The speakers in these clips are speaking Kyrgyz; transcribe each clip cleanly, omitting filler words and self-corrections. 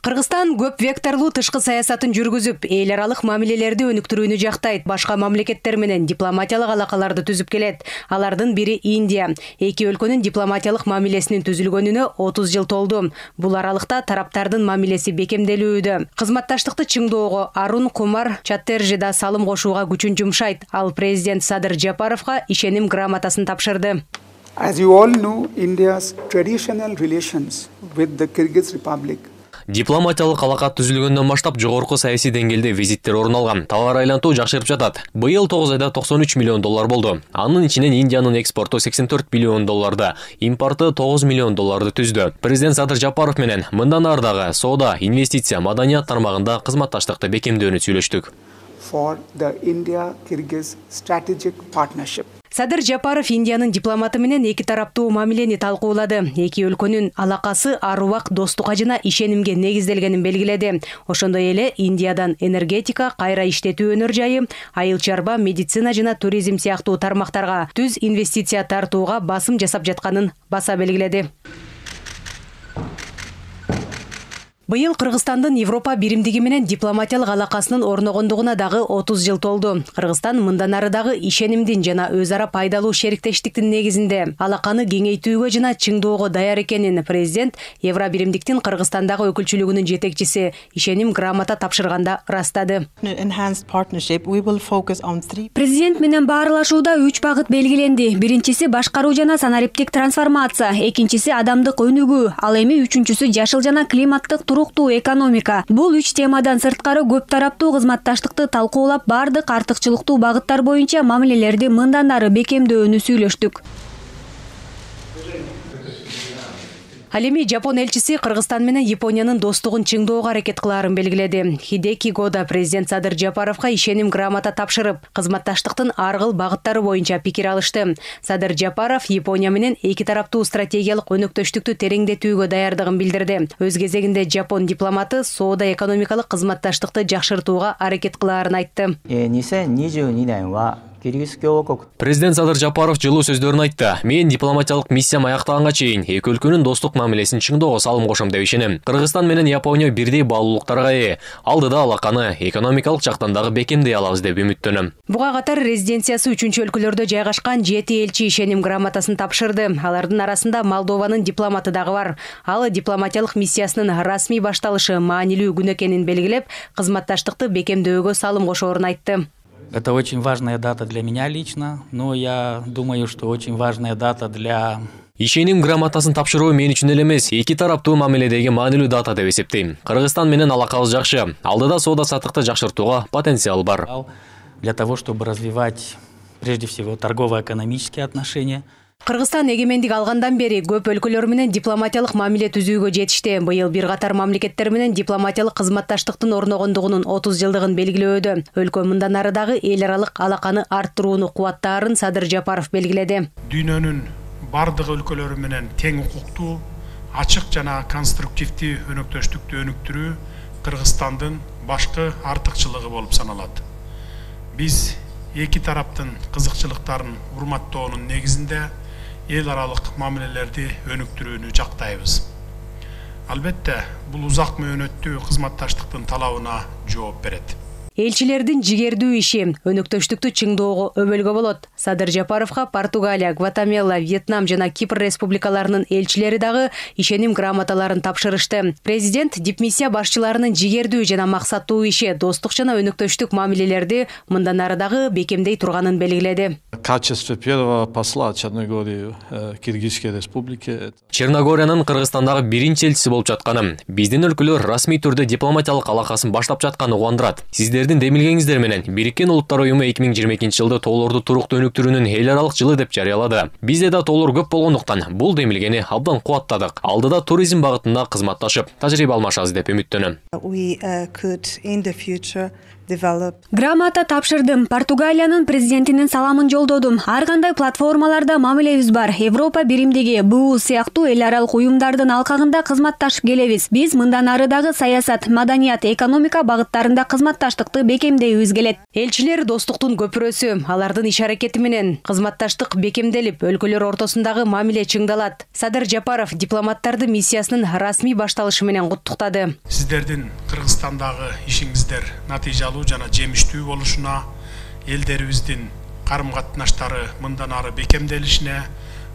Кыргызстан көп векторлуу тышкы саясатын жүргүзүп, эл аралык мамилелерди өнүктүрүүнү жактайт, башка мамлекеттер менен дипломатиялык алакаларды түзүп келет. Алардын бири Индия. Эки өлкөнүн дипломатиялык мамилесинин түзүлгөнүнө 30 жыл толду. Бул аралыкта тараптардын мамилеси бекемделүүдө. Кызматташтыкты чыңдоого Арун Кумар Чаттерджи да салым кошууга күчүн жумшайт. Ал президент Садыр Жапаровго ишеним грамотасын тапшырды. As you all know, India's traditional relations with the Kyrgyz Republic Дипломатиялык алака түзүлгөндөн баштап жогорку саясий деңгээлде визиттер орун алган. Товар айлантуу жакшырып жатат. Быйыл 9 айда $93 миллион болду. Анын ичинен Индиянын экспорту $84 миллион, импорты $9 миллион түздү. Президент Садыр Жапаров менен мындан ары дагы соода, инвестиция, маданият тармагында кызматташтыкты бекемдөөнү сүйлөштүк. For the India-Kyrgyz strategic partnership. Садыр Жапаров Индиянын дипломаты менен эки тараптуу мамилени талкуулады. Эки өлкөнүн алакасы ар убак достукка жана ишенимге негизделгенин белгиледи. Ошондой эле Индиядан энергетика, кайра иштетүү өнөр жайы, айыл чарба, медицина жана туризм сыяктуу тармактарга түз инвестиция тартууга басым жасап жатканын баса белгиледи. Быйыл Кыргызстандын Европа биримдиги менен дипломатиялык алакасынын орногондугуна дагы 30 жыл толду. Кыргызстан мындан ары дагы ишенимдин жана өз ара пайдалуу шериктештиктин негизинде алаканы кеңейтүүгө жана чыңдоого даяр экенин президент Евро биримдиктин Кыргызстандагы өкүлчүлүгүнүн жетекчиси ишеним грамота тапшырганда ырастады. Президент менен баарлашууда 3 багыт белгиленди. Биринчиси башкаруу жана санариптик трансформация, экинчиси адамдык өнүгүү, ал эми үчүнчүсү жашыл жана климаттык туруктуу экономика. Бул 3 темадан сырткары көп тараптуу кызматташтыкты талкуулап, бардык артыкчылыктуу багыттар боюнча мамилелерди мындан ары бекемдөөнү сүйлөштүк. Ал эми Жапон элчиси Кыргызстан менен Япониянын достугун чыңдоого аракет кылаарын белгиледи. Хидеки Года президент Садыр Жапаровго ишеним грамота тапшырып, кызматташтыктын ар кыл багыттары боюнча пикир алышты. Садыр Жапаров Япония менен эки тараптуу стратегиялык өнөктөштүктү тереңдетүүгө даярдыгын билдирди. Өз кезегинде Жапон дипломаты соода экономикалык кызматташтыкты жакшыртууга аракет кылаарын айтты. Президент Садыр Жапаров жылуу сөздөрүн айтты. Мен дипломатиялык миссиям аяктаганга чейин эки өлкөнүн достук мамилесин чыңдоого салым кошом деп ишенем. Кыргызстан менен Япония бирдей баалуулуктарга ээ. Алдыда алаканы экономикалык жактан дагы бекемдей алабыз деп үмүттөнөм. Буга катар резиденциясы 3-өлкөлөрдө жайгашкан 7 элчи ишеним грамотасын тапшырды. Алардын арасында Молдованын дипломаты дагы бар. Ал дипломатиялык миссиясынын расмий башталышы маанилүү күн экенин белгилеп, кызматташтыкты бекемдөөгө салым кошоорун айтты. Это очень важная дата для меня лично, но я думаю, что очень важная дата для... Ишеним грамотасын тапшыруу мен үчүн эле эмес, эки тараптуу мамиледеги маанилүү дата деп эсептейм. Кыргызстан менен алакабыз жакшы. Алдыда соода саттыкты жакшыртууга потенциал бар. Для того, чтобы развивать, прежде всего, торгово-экономические отношения. Кыргызстан эгемендик алгандан бери көп өлкөлөр менен дипломатиялык мамиле түзүүгө жетишти. Быйыл бир катар мамлекеттер менен дипломатиялык кызматташтыктын орногондугунун 30 жылдыгын белгилөөдө. Өлкө мындан ары дагы эл аралык алаканы арттырууну кубаттаарын Садыр Жапаров белгиледи. Дүйнөнүн бардык өлкөлөрү менен тең укуктуу, ачык жана конструктивдүү өнөктөштүктү өнүктүрүү Кыргызстандын башкы артыкчылыгы болуп саналат. Биз эки тараптын кызыкчылыктарын урматтоонун негизинде эл аралык мамилелерди өнүктүрүүнү жактайбыз. Албетте, бул узак мөөнөттүү кызматташтыктын талабына жооп берет. Элчилердин жигердүү иши өнөктөштүктү чыңдоого өбөлгө болот. Садыр Жапаровго Португалия, Гватемала, Вьетнам жана Кипр республикаларынын элчилери дагы ишеним грамоталарын тапшырышты. Президент дипмиссия башчыларынын жигердүү жана максаттуу иши достук жана өнөктөштүк мамилелерди мындан ары дагы бекемдей турганын белгиледи. Качество первого посла Черногории Киргизской республики. Черногориянын Кыргызстандагы биринчи элчиси болуп жатканы, биздин өлкөлөр расмий түрдө дипломатиялык алакасын баштап жатканы кубандырат. Сиздердин демилгеңиздер менен Бириккен Улуттар уюму 2022 жылды тоолорду туруктуу өнүктүрүүнүн эл аралык жылы деп жарыялады. Бизде да тоолор көп болгондуктан бул демилгени абдан кубаттадык. Алдыда туризм багытында кызматташып, тажрыйба алмашабыз деп үмүттөнөм. Грамота тапшырдым. Португалиянын президентинин саламын жолдодум. Ар кандай платформаларда мамилебиз бар. Европа биримдиги, БУ сыяктуу эл аралык уюмдардын алкагында кызматташып келебиз. Биз мындан ары дагы саясат, маданият, экономика багыттарында кызматташтыкты бекемдейбиз келет. Элчилер достуктун көпүрөсү. Алардын иш аракети менен кызматташтык бекемделип, өлкөлөр ортосундагы мамиле чыңдалат. Садыр Жапаров дипломаттарды миссиясынын расмий башталышы менен куттуктады. Сиздердин Кыргызстандагы ишиңиздер натыйжалуу жана жемиштүү болушуна, элдерибиздин карым-катнаштары мындан ары бекемделишине,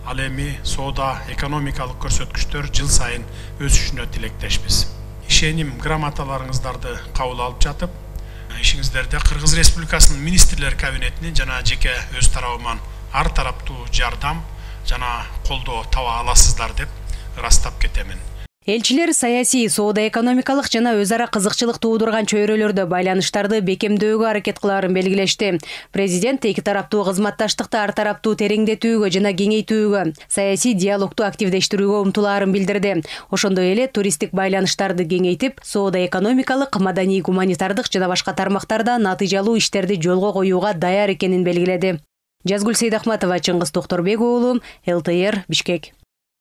ал эми соода экономикалык көрсөткүчтөр жыл сайын өсүшүнө тилектешпиз. Ишеним грамоталарыңыздарды кабыл алып жатып, ишиңиздерде Кыргыз Республикасынын министрлер кабинетинин жана жеке өз тарабыман ар тараптуу жардам жана колдоо таба аласыздар деп ырастап кетемин. Элчилер саясий, соода экономикалык жана өз ара кызыкчылык туудурган чөйрөлөрдө байланыштарды бекемдөөгө аракет кылаарын белгилешти. Президент эки тараптуу кызматташтыкты ар тараптуу тереңдетүүгө жана кеңейтүүгө, саясий диалогду активдештирүүгө умтулаарын билдирди. Ошондой эле туристтик байланыштарды кеңейтип, соода экономикалык, маданий, гуманитардык жана башка тармактарда натыйжалуу иштерди жолго коюуга даяр экенин белгиледи. Жазгүл Сейдахматова, Чыңгыз Токторбек уулу, ЛТР, Бишкек.